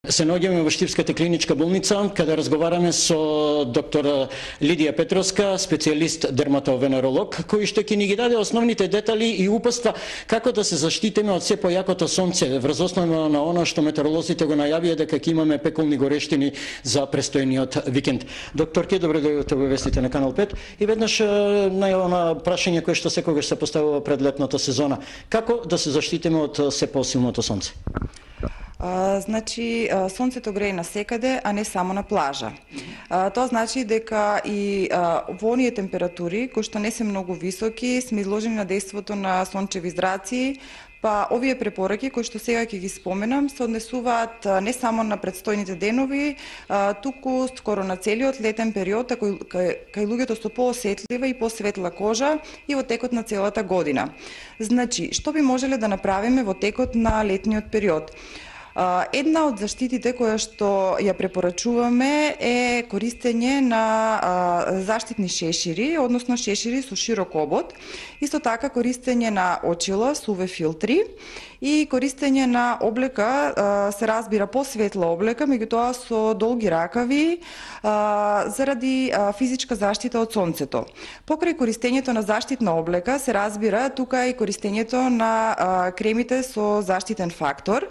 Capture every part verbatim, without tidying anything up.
Се наоѓаме во Штипската клиничка болница, каде разговараме со доктор Лидија Петровска, специјалист дерматовенеролог, кој што ќе ни ги даде основните детали и упатства како да се заштитиме од се појакото сонце, врз основа на она што метеоролозите го најавија дека ќе имаме пеколни горештини за престојниот викенд. Докторке, добро дојдовте во вестите на Канал пет и веднаш најава на прашање кое што секогаш се поставува пред летната сезона. Како да се заштитиме од се посилното сонце? А, значи, сонцето грее насекаде, а не само на плажа. А, тоа значи дека и а, во оние температури, кои што не се многу високи, сме изложени на дејството на сончеви зраци, па овие препораки кои што сега ќе ги споменам се однесуваат не само на предстојните денови, а, туку скоро на целиот летен период, кај, кај, кај луѓето со поосетлива и посветла кожа и во текот на целата година. Значи, што би можеле да направиме во текот на летниот период? Една од заштитите која што ја препорачуваме е користење на заштитни шешири, односно шешири со широк обод, исто така користење на очила со ю ви филтри и користење на облека, се разбира посветла облека, меѓутоа со долги ракави, заради физичка заштита од сонцето. Покрај користењето на заштитна облека, се разбира тука и користењето на кремите со заштитен фактор,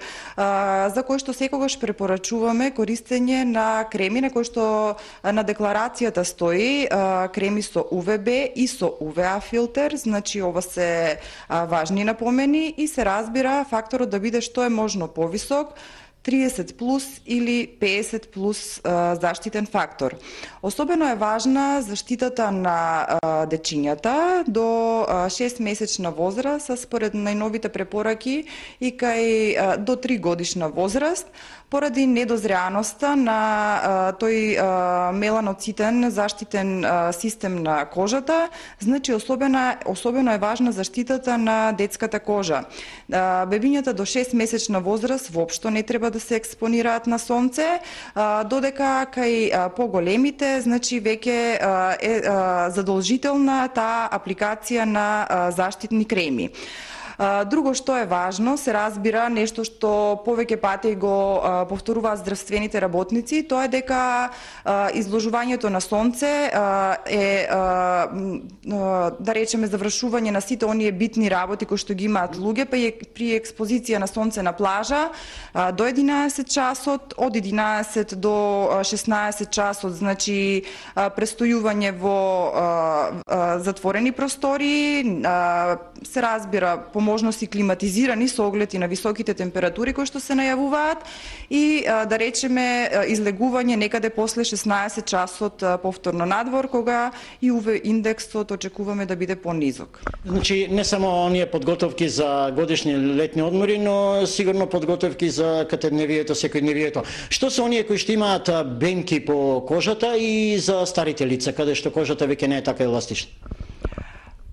за кој што секогаш препорачуваме користење на креми на кои што на декларацијата стои креми со ю ви бе и со ю ви а филтер, значи ова се важни напомени и се разбира факторот да биде што е можно повисок, триесет плюс или песет плюс заштитен фактор. Особено е важна заштитата на дечињата до шест месечна возраст, според најновите препораки и кај до три годишна возраст, поради недозреаноста на тој меланоцитен заштитен систем на кожата, значи особено, особено е важна заштитата на детската кожа. Бебињата до шест месечна возраст воопшто не треба да се експонираат на сонце, додека кај поголемите, значи веќе е задолжителна таа апликација на заштитни креми. Друго што е важно, се разбира нешто што повеќе пати го повторуваат здравствените работници, тоа е дека изложувањето на сонце е, да речеме, завршување на сите оние битни работи кои што ги имаат луѓе, па при експозиција на сонце на плажа до единаесет часот, од единаесет до шеснаесет часот, значи престојување во затворени простори, се разбира по можности климатизирани со оглед и на високите температури кои што се најавуваат и да речеме излегување некаде после шеснаесет часот повторно надвор, кога и ю ви индексот очекуваме да биде понизок. Значи не само оние подготовки за годишни летни одмори, но сигурно подготовки за катедневието, секојдневието. Што се оние кои што имаат бемки по кожата и за старите лица, каде што кожата веќе не е така еластична?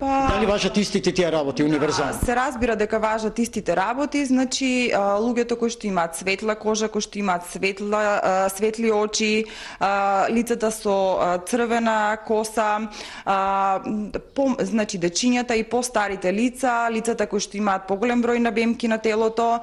Па, дали важат истите тие работи, универзално? Да, се разбира дека важат истите работи, значи луѓето кои што имаат светла кожа, кои што имаат светла, светли очи, лицата со црвена коса, по, значи дечињата и постарите лица, лицата кои што имаат поголем број на бемки на телото,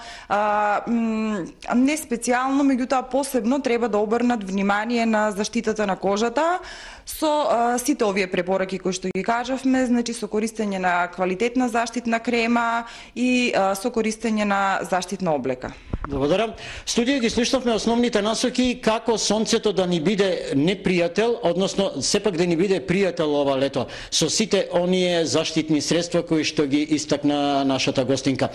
не специјално, меѓутоа посебно треба да обрнат внимание на заштитата на кожата со сите овие препораки кои што ги кажавме, значи со користење на квалитетна заштитна крема и а, со користење на заштитна облека. Благодарам. Студија ги слушнавме основните насоки како сонцето да ни биде непријател, односно сепак да ни биде пријател ова лето, со сите оние заштитни средства кои што ги истакна нашата гостинка.